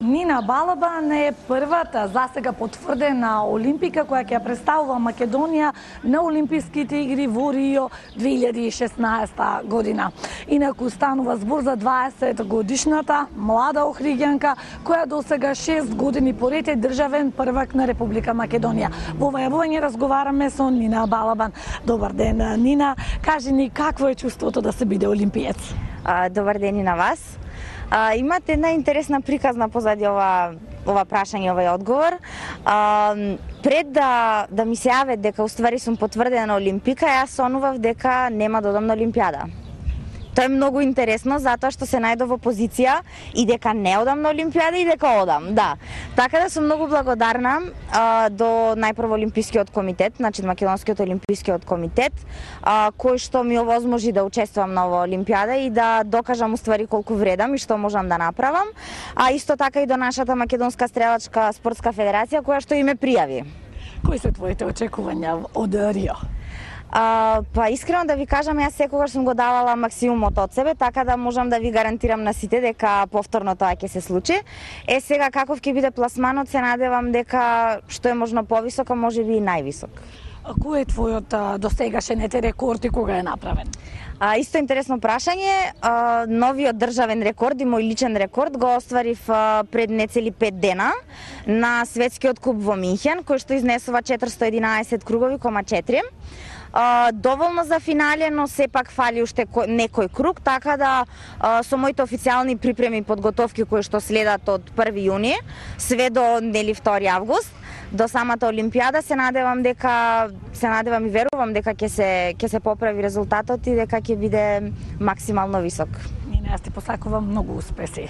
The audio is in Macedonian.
Нина Балабан е првата засега потврдена олимпика која ќе ја представува Македонија на Олимписките игри во Рио 2016 година. Инаку станува збор за 20 годишната млада охриѓанка која досега 6 години поред е државен првак на Република Македонија. Во ова јавување разговараме со Нина Балабан. Добар ден, Нина. Кажи ни какво е чувството да се биде олимпиец? Добар ден и на вас. Имате една интересна приказна позади ова прашање, овој одговор. Пред да ми се јаве дека уствари сум потврдена олимпика, јас сонував дека нема да одам на Олимпијада. Тоа е многу интересно, затоа што се најдов во позиција и дека не одам на Олимпијада и дека одам, да. Така да сум многу благодарна до најпрво Олимпискиот комитет, значи Македонскиот олимпискиот комитет, кој што ми овозможи да учествувам на оваа Олимпијада и да докажам уствари колку вредам и што можам да направам, а исто така и до нашата Македонска стрелачка спортска федерација која што и ме пријави. Кои се твоите очекувања од Рио? Па искрено да ви кажам, јас секогаш сум го давала максимумот од себе, така да можам да ви гарантирам на сите дека повторно тоа ќе се случи. Сега каков ќе биде пласманот, се надевам дека што е можно повисок, а можеби и највисок. Кој е твојот досегашен рекорд и кога е направен? Исто интересно прашање. Новиот државен рекорд и мој личен рекорд го остварив пред нецели 5 дена на светскиот куп во Минхен, кој што изнесува 411 кругови, 4. Доволно за финале, но сепак фали уште некој круг, така да со моите официјални припреми и подготовки кои што следат од 1 јуни све до 2 август до самата Олимпијада, се надевам и верувам дека ќе се поправи резултатот и дека ќе биде максимално висок. Јас ти посакувам многу успеси.